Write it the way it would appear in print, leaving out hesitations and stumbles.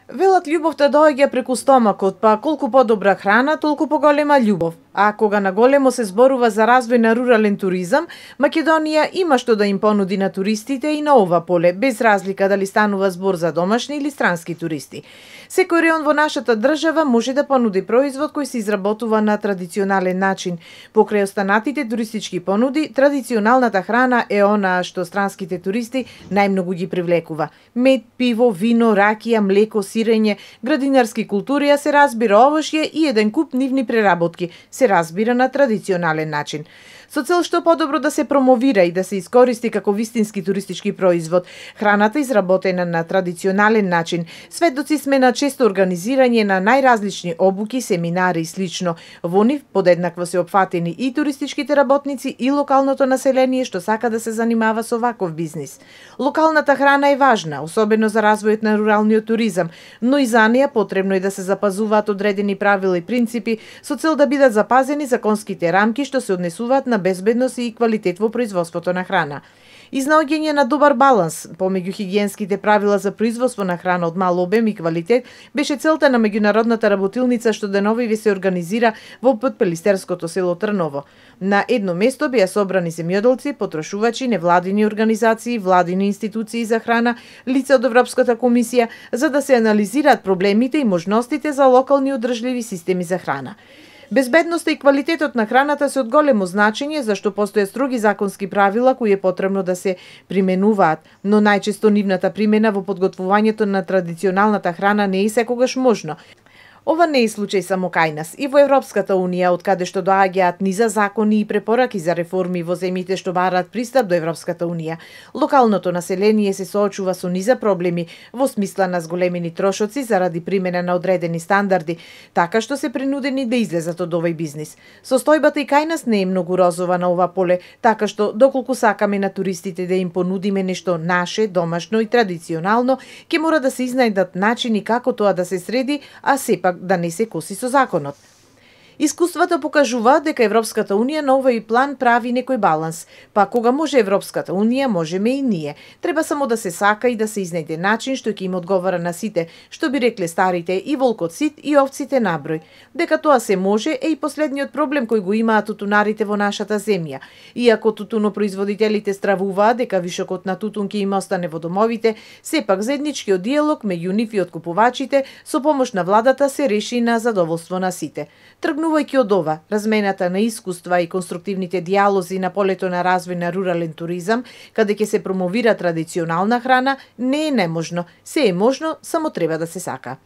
Велат љубовта доаѓа преку стомакот, па колку подобра храна, толку поголема љубов. А кога наголемо се зборува за развој на рурален туризам, Македонија има што да им понуди на туристите и на ова поле, без разлика дали станува збор за домашни или странски туристи. Секој реон во нашата држава може да понуди производ кој се изработува на традиционален начин. Покрај останатите туристички понуди, традиционалната храна е онаа што странските туристи најмногу ги привлекува. Мед, пиво, вино, ракија, млеко, сирење, градинарски култури, а се разбира овошје и еден куп нивни преработки, се разбира на традиционален начин. Со цел што подобро да се промовира и да се искористи како вистински туристички производ, храната изработена на традиционален начин, сведоци сме на често организирање на најразлични обуки, семинари и слично. Во нив подеднакво се опфатени и туристичките работници и локалното население што сака да се занимава со ваков бизнис. Локалната храна е важна, особено за развојот на руралниот туризам, но и за неја потребно е да се запазуваат одредени правила и принципи со цел да бидат запазени законските рамки што се однесуваат на безбедност и квалитет во производството на храна. Изнаоѓање на добар баланс помеѓу хигиенските правила за производство на храна од мал обем и квалитет беше целта на меѓународната работилница што деновиве се организира во Пелистерското село Трново. На едно место беа собрани земјоделци, потрошувачи, невладини организации, владини институции за храна, лица од Европската комисија, за да се анализираат проблемите и можностите за локални одржливи системи за храна. Безбедноста и квалитетот на храната се од големо значење, зашто постојат строги законски правила кои е потребно да се применуваат, но најчесто нивната примена во подготвувањето на традиционалната храна не е секогаш можно. Ова не е случај само кај нас. И во Европската Унија, од каде што доаѓаат низа закони и препораки за реформи во земјите што бараат пристап до Европската Унија, локалното население се соочува со низа проблеми во смисла на зголемени трошоци заради примена на одредени стандарди, така што се принудени да излезат од овој бизнис. Состојбата и кај нас не е многу розова на ова поле, така што доколку сакаме на туристите да им понудиме нешто наше, домашно и традиционално, ќе мора да се изнајдат начини како тоа да се среди, а сепак да не се коси со законот. Искуствата покажуваат дека Европската Унија на овој план прави некој баланс. Па кога може Европската Унија, можеме и ние. Треба само да се сака и да се изнајде начин што ќе им одговара на сите, што би рекле старите, и волкот сит и овците наброј. Дека тоа се може е и последниот проблем кој го имаат тутунарите во нашата земја. Иако тутунопроизводителите стравуваат дека вишокот на тутун ќе им остане во домовите, сепак заедничкиот диалог меѓу нив и откупувачите со помош на владата се реши на задоволство на сите. Тргнувајќи од ова, размената на искуства и конструктивните диалози на полето на развој на рурален туризам, каде ќе се промовира традиционална храна, не е неможно. Се е можно, само треба да се сака.